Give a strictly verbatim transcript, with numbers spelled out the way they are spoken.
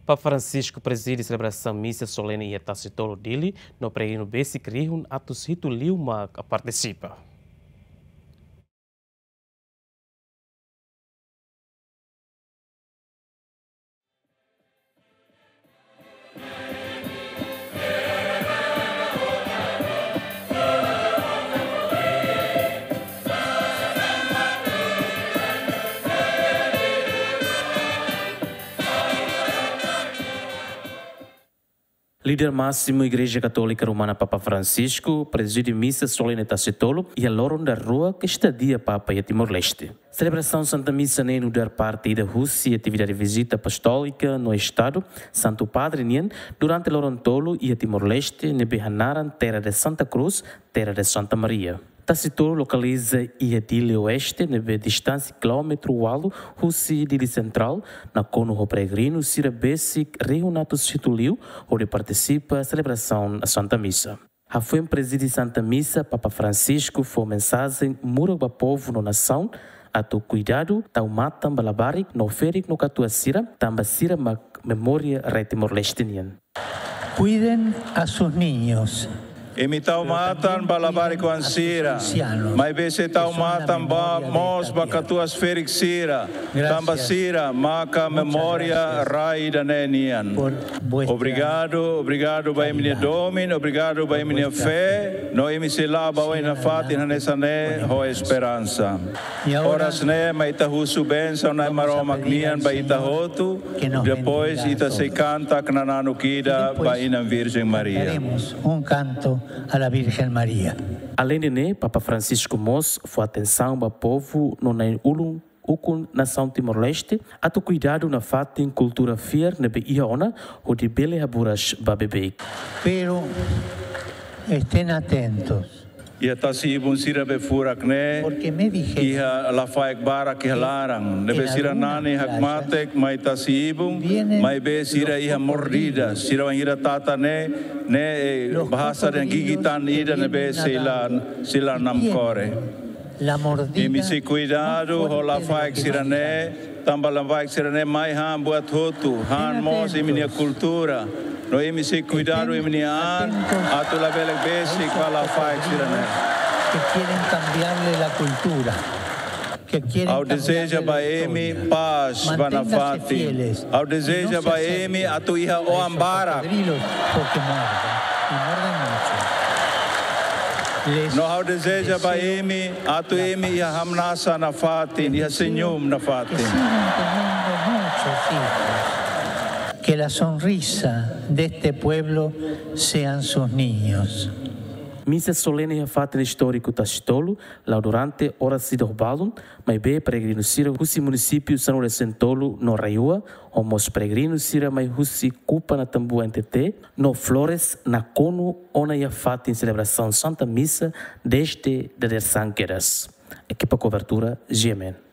Papa Francisco prezide selebrasaun misa solene iha Tasitolu, Dili, no peregrinu besik rihun atus hitu liu mak partisipa. Líder másimu Igreja Katólika Romana, Papa Francisco, prezide misa solene Tasitolu iha loron daruak estadia Papa iha Timor-Leste. Selebrasaun Santa Misa ne'e nu'udar parte ida husi atividade vizita apostólika no Estadu Santu Padre nian durante loron tolu iha Timor-Leste, ne'ebé hanaran Terra de Santa Cruz, Terra de Santa Maria. Tasitolu lokaliza iha Dili Oeste, ne'ebé distánsia kilómetru ualu husi Dili Sentrál, nakonu ho peregrinu sira besik rihun atus hitu liu hodi partisipa selebrasaun Santa Misa. Hafoin prezide Santa Misa, Papa Francisco fó mensajen murak ba povu no nasaun atu kuidadu, tau matan ba labarik no ferik no katuas sira, tanba sira mak memória rai Timor-Leste nian. Cuiden a sus niños. Imi tau matan ba labarik-oan sira, maibé sei tau matan ba mós ba katuas ferik sira, tanba sira maka memória rai ida-ne'e nian. Obrigadu, obrigadu ba imi-nia domin, obrigadu ba imi-nia fé, no imi sei la'o ba oin nafatin hanesan ne'e ho esperansa. Oras ne'e mai ita husu bensaun Na'i Maromak nian ba ita hotu, depois ita sei kanta knananu ida ba Inan Virjen Maria. Cantaremos un canto a la Virgen María. Aleinde ne'e, Papa Francisco mós fó atensaun ba povu no na'in-ulun ukun nasaun Timor-Leste atu kuidadu nafatin kultura fiar ne'ebé iha ona hodi bele haburas ba beibeik. Pero estén atentos. Iha tasi-ibun sira be furak ne'e, porque me dijeron, iha lafaek barak iha laran, ne'ebé sira nani hakmatek mai tasi-ibun, maibé sira iha mordida, sira wainhira tata ne'e, ne'e, eh, bahasa dehan gigitan ida ne'ebé sei la, sei la namkore. Imi sei kuidadu ho lafaek sira-ne'e, tanba lafaek sira-ne'e mai han buat hotu, han mós imi-nia kultura. No imi sei kuidadu imi-nia an atu labele besik ba lafaek sira-ne'e. Que quieren cambiarle la cultura. Ha'u dezeja ba imi pás ba nafatin. Ha'u dezeja ba imi atu iha oan barak. No ha'u dezeja ba imi atu imi iha hamnasa nafatin, iha senyum nafatin. Que la sonrisa de este pueblo sean sus niños. Misa solene iha fatin istóriku Tasitolu la'o durante oras ida ho balun, maibé peregrinu sira husi munisípiu Sanau Lesin Tolu no RAEOA, ho mós peregrinu sira mai husi Kupa Natambua N T T no Flores nakonu ona iha fatin selebrasaun Santa Misa dezde dadeer-saan kedas. Ekipa kobertura, G M N.